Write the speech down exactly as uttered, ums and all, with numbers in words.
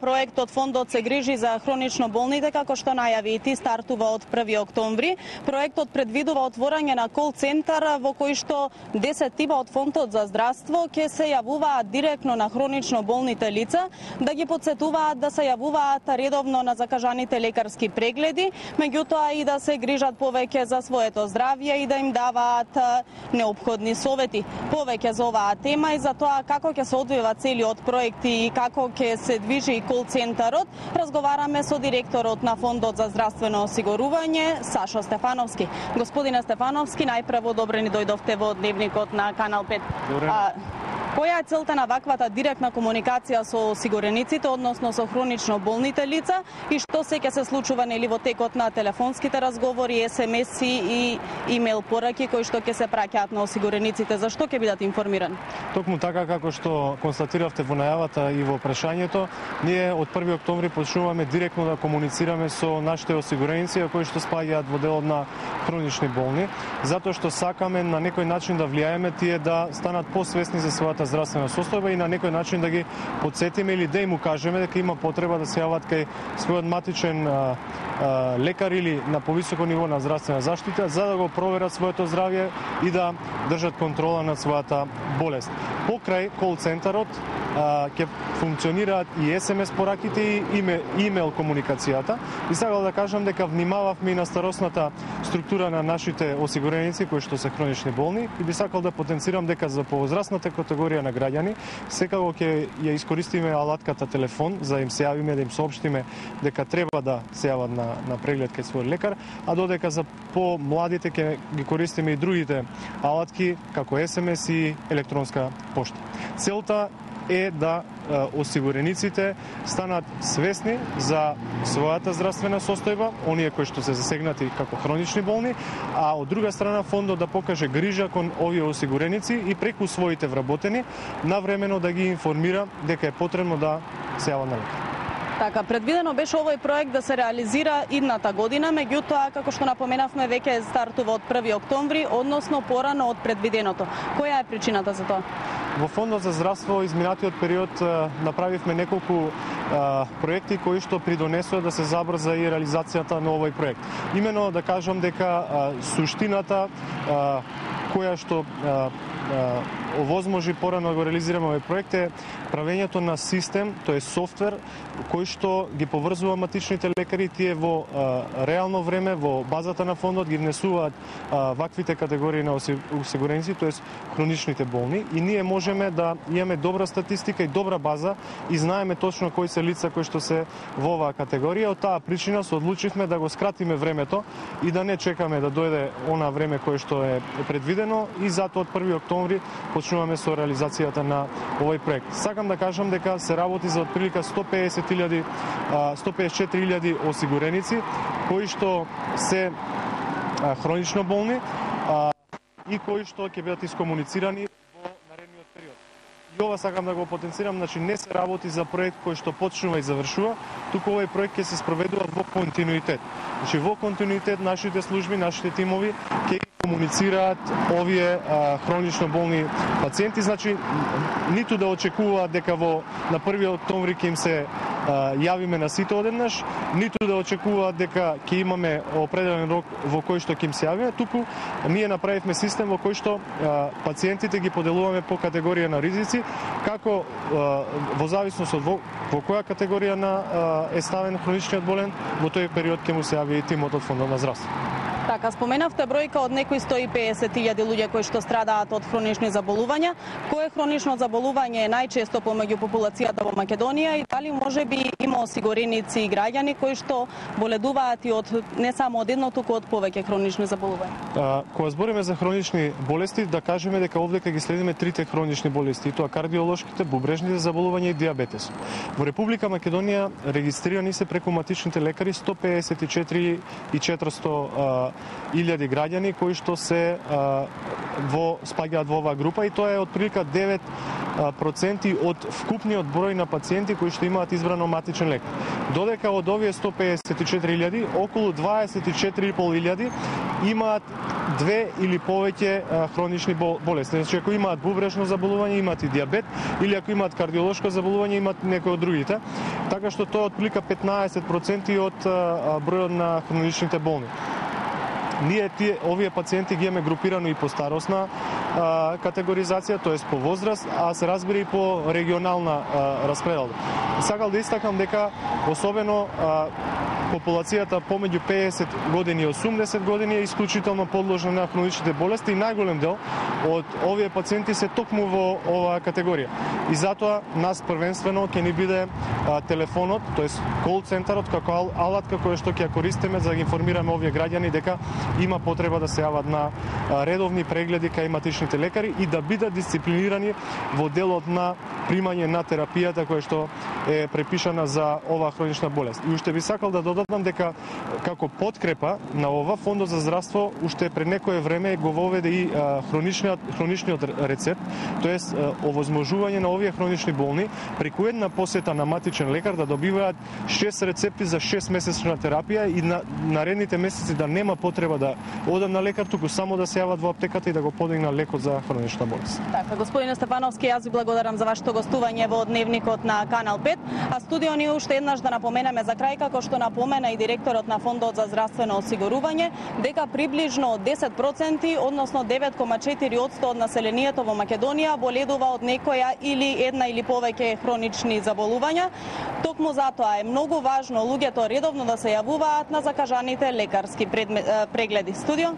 проектот Фондот се грижи за хронично болните, како што најави и ти, стартува од први октомври. Проектот предвидува отворање на кол центар во кој што десет тима од Фондот за здравство ќе се јавуваат директно на хронично болните лица, да ги потсетуваат да се јавуваат редовно на закажаните лекарски прегледи, меѓутоа и да се грижат повеќе за своето здравје и да им даваат неопходни совети. Повеќе за оваа тема и за тоа како ќе се одвива целиот проект и како ќе се движи кол центарот, разговараме со директорот на Фондот за здравствено осигурување, Сашо Стефановски. Господине Стефановски, најпрво добре ни дојдовте во Дневникот на Канал пет. А, која е целта на ваквата директна комуникација со осигурениците, односно со хронично болните лица, и што се ќе се случува нели во текот на телефонските разговори, ес ем еси и имејл пораки кои што ќе се праќаат на осигурениците? Зашто ќе бидат информирани? Токму така како што констатиравте во најавата и во прашањето, ние од први октомври почнуваме директно да комуницираме со нашите осигуреници кои што спаѓаат во делот на хронични болни, затоа што сакаме на некој начин да влијаеме тие да станат посвесни за својата здравствена состојба и на некој начин да ги потсетиме или да им укажеме дека има потреба да се јават кај својот матичен а, а, лекар или на повисоко ниво на здравствена заштита за да го проверат своето здравје и да држат контрола над својата болест. Покрај кол центарот ќе функционираат и ес ем ес пораките и имејл комуникацијата. И сакал да кажам дека внимававме и на старосната структура на нашите осигуреници кои што се хронични болни и би сакал да потенцирам дека за повозрастната категорија на граѓани секако ќе ја искористиме алатката телефон за да им се јавиме, да им соопштиме дека треба да се јават на, на преглед кај свој лекар, а додека за по-младите ќе ги користиме и другите алатки како ес ем ес и електронска пошта. Целта е да е, осигурениците станат свесни за својата здравствена состојба, оние кои што се засегнати како хронични болни, а од друга страна фондот да покаже грижа кон овие осигуреници и преку своите вработени навремено да ги информира дека е потребно да се јават на лекар. Така, предвидено беше овој проект да се реализира идната година, меѓутоа, како што напоменавме, веќе стартува од први октомври, односно порано од предвиденото. Која е причината за тоа? Во Фондот за здравство изминатиот период направивме неколку а, проекти кои што придонесоа да се забрза и реализацијата на овој проект. Имено да кажам дека а, суштината а, која што а, а, овозможи порано да го реализираме овој проект е правењето на систем, тоа е софтвер кој што ги поврзува матичните лекари, тие во а, реално време во базата на фондот ги внесуваат а, ваквите категории на осигуреници, тоа е хроничните болни, и ние можеме да имаме добра статистика и добра база и знаеме точно кои се лица кои што се во оваа категорија. Од таа причина се одлучивме да го скратиме времето и да не чекаме да дојде она време кое што е предвидено, и затоа од први октомври почнуваме со реализацијата на овој проект. Сакам да кажам дека се работи за отприлика сто педесет илјади, сто педесет и четири илјади осигуреници кои што се хронично болни и кои што ќе бидат искомуницирани во наредниот период. И ова сакам да го потенцирам, значи не се работи за проект кој што почнува и завршува, туку овој проект ќе се спроведува во континуитет. Значи во континуитет нашите служби, нашите тимови ќе комуницираат овие а, хронично болни пациенти, значи ниту да очекуваат дека во на први октомври ќе им се а, јавиме на сите одеднаш, ниту да очекуваат дека ќе имаме определен рок во кој што ќе им се јавиме, туку ние направивме систем во кој што а, пациентите ги поделуваме по категорија на ризици, како а, во зависност од во, во која категорија на а, е ставен хроничниот болен, во тој период ќе му се јави и тимот од Фондот на здравство. Така, споменавте бројка од некои сто и педесет илјади луѓе кои што страдаат од хронични заболувања. Кое хронично заболување е најчесто помеѓу популацијата во Македонија и дали можеби има осигуреници и граѓани кои што боледуваат и од не само од едно, туку од повеќе хронични заболувања? Кога збориме за хронични болести, да кажеме дека овдека ги следиме трите хронични болести, и тоа кардиолошките, бубрежните заболувања и диабетес. Во Република Македонија регистрирани се преку матичните лекари сто педесет и четири и четиристотини илјади граѓани кои што се а, во спаѓаат во оваа група, и тоа е отприлика девет проценти од вкупниот број на пациенти кои што имаат избрано матичен лекар. Додека од овие сто педесет и четири илјади, околу дваесет и четири и пол илјади имаат две или повеќе хронични болести. Значи, ако имаат бубрежно заболување, имаат и дијабет, или ако имаат кардиолошко заболување, имаат некои од другите. Така што тоа отплика петнаесет проценти од бројот на хроничните болни. Ние тие овие пациенти ги имаме групирано и по старосна а, категоризација, тоест по возраст, а се разбира и по регионална а, распределба. Сакал да истакнам дека особено а, популацијата помеѓу пеесет години и осумдесет години е исклучително подложна на хроничните болести и најголем дел од овие пациенти се токму во оваа категорија. И затоа нас првенствено ќе ни биде а, телефонот, тоест кол центарот како алатка која што ќе ја користиме за да ги информираме овие граѓани дека има потреба да се јават на а, редовни прегледи кај матичните лекари и да бидат дисциплинирани во делот на примање на терапијата која што е препишана за оваа хронична болест. И уште би сакал да додадам дека како подкрепа на ова Фондот за здравство уште пред некое време го воведе и а, хроничниот хроничниот рецепт, тоест а, овозможување на овие хронични болни преку една посета на матичен лекар да добиваат шест рецепти за шест месечна терапија и на наредните месеци да нема потреба да одат на лекар, туку само да се јават во аптеката и да го подигнат лекот за хронична болест. Така, господине Стефановски, јас ви благодарам за вашето гостување во Дневникот на Канал пет, а студио ни уште еднаш да напоменеме за крај, како што напомена и директорот на Фондот за здравствено осигурување, дека приближно десет проценти, односно девет кoma четири одсто од населението во Македонија боледува од некоја или една или повеќе хронични заболувања. Токму затоа е многу важно луѓето редовно да се јавуваат на закажаните лекарски прегледи. Студио